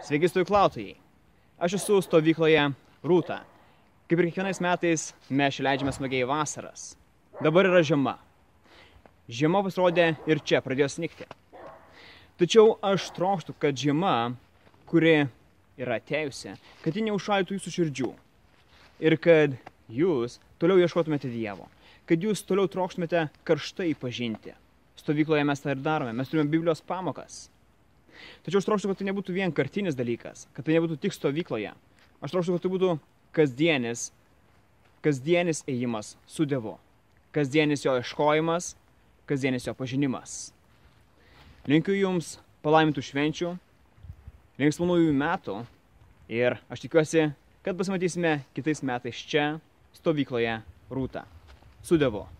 Sveiki stovyklautojai. Aš esu stovykloje Rūta. Kaip ir kiekvienais metais mes leidžiame smagiai vasaras. Dabar yra žiema. Žiema pasirodė ir čia pradėjo snigti. Tačiau aš trokštu, kad žiema, kuri yra atėjusi, kad ji neužšaldytų jūsų širdžių. Ir kad jūs toliau ieškotumėte Dievo. Kad jūs toliau trokštumėte karštai pažinti. Stovykloje mes tą ir darome. Mes turime Biblijos pamokas. Tačiau aš trokštu, kad tai nebūtų vienkartinis dalykas, kad tai nebūtų tik stovykloje. Aš trokštu, kad tai būtų kasdienis ėjimas su Dievu. Kasdienis jo ieškojimas, kasdienis jo pažinimas. Linkiu jums palaimintų švenčių, linksmų naujųjų metų ir aš tikiuosi, kad pasimatysime kitais metais čia, stovykloje Rūta. Su Dievu.